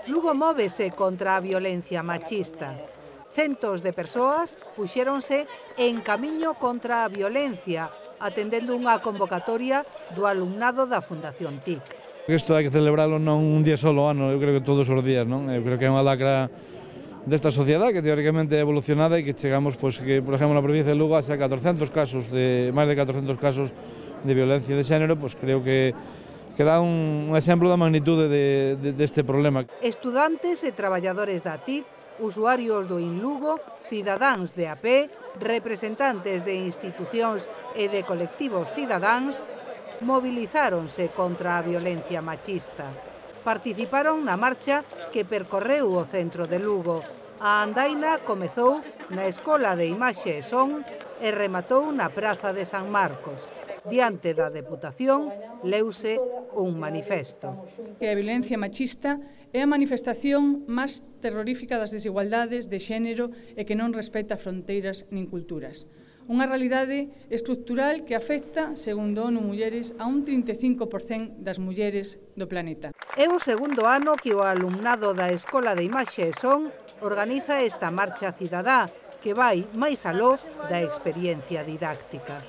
Lugo móvese contra a violencia machista. Centos de persoas puxéronse en camiño contra a violencia, atendendo unha convocatoria do alumnado da Fundación TIC. Isto hai que celebralo non un día solo ano, eu creo que todos os días, non? Eu creo que é unha lacra desta sociedade que teóricamente é evolucionada e que chegamos, pois, que, por exemplo, na provincia de Lugo, hasta 400 casos, máis de 400 casos de violencia de xénero, pois creo que dá un exemplo da magnitude deste problema. Estudantes e traballadores da TIC, usuarios do InLugo, cidadáns de a pé, representantes de institucións e de colectivos cidadáns, movilizáronse contra a violencia machista. Participaron na marcha que percorreu o centro de Lugo. A andaina comezou na Escola de Imaxe e Son e rematou na Praza de San Marcos. Diante da Deputación, leuse un manifesto. Que a violencia machista é a manifestación máis terrorífica das desigualdades de xénero e que non respeta fronteiras nin culturas. Unha realidade estructural que afecta, segundo ONU Mulleres, a un 35% das mulleres do planeta. É o segundo ano que o alumnado da Escola de Imaxe e Son organiza esta marcha cidadá que vai máis aló da experiencia didáctica.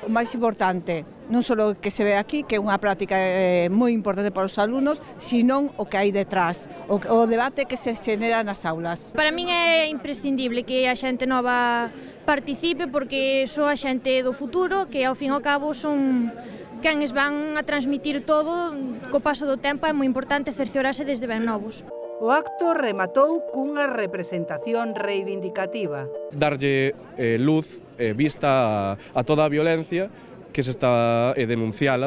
O máis importante, non só o que se ve aquí, que é unha práctica moi importante para os alumnos, sino o que hai detrás, o debate que se xenera nas aulas. Para min é imprescindible que a xente nova participe porque son a xente do futuro, que ao fin e ao cabo son quen van a transmitir todo co paso do tempo. É moi importante cerciorarse desde ben novos. O acto rematou cunha representación reivindicativa. Darlle luz, vista a toda a violencia que se está denunciar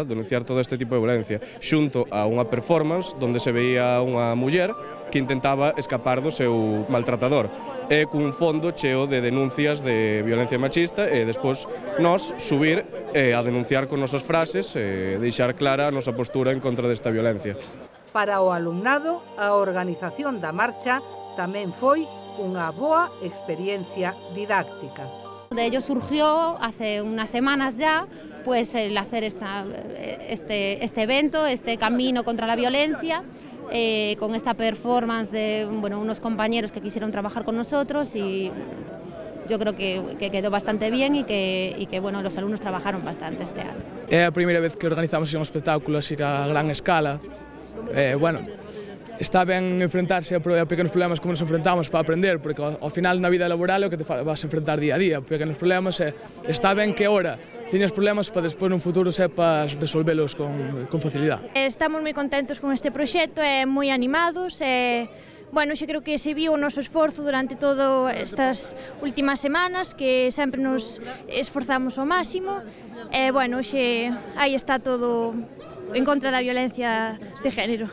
todo este tipo de violencia, xunto a unha performance onde se veía unha muller que intentaba escapar do seu maltratador, e cun fondo cheo de denuncias de violencia machista, e despois nós subir a denunciar con nosas frases e deixar clara a nosa postura en contra desta violencia. Para o alumnado, a organización da marcha tamén foi unha boa experiencia didáctica. De ello surgió hace unas semanas ya pues el hacer este evento, este camino contra la violencia, con esta performance de unos compañeros que quisieron trabajar con nosotros, y yo creo que quedó bastante bien y que los alumnos trabajaron bastante este año. É a primeira vez que organizamos un espectáculo así a gran escala. Está ben enfrentarse a pequenos problemas como nos enfrentamos para aprender, porque ao final na vida laboral é o que te vas a enfrentar día a día, pequenos problemas, está ben que ahora teñas problemas para despois no futuro sepas resolvelos con facilidade. Estamos moi contentos con este proxecto, moi animados, xa creo que se viu o noso esforzo durante todas estas últimas semanas, que sempre nos esforzamos ao máximo, xe aí está todo en contra da violencia de género.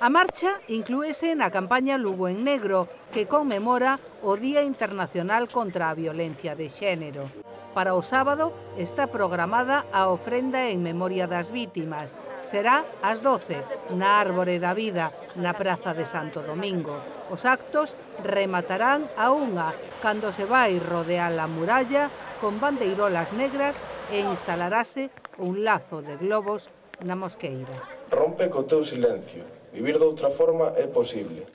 A marcha inclúese na campaña Lugo en Negro, que conmemora o Día Internacional contra a Violencia de Xénero. Para o sábado está programada a ofrenda en memoria das vítimas. Será ás 12, na Árbore da Vida, na Praza de Santo Domingo. Os actos rematarán a 1, cando se vai rodear a muralla con bandeirolas negras e instalarase un lazo de globos na mosqueira. Rompe co teu silencio. Vivir doutra forma é posible.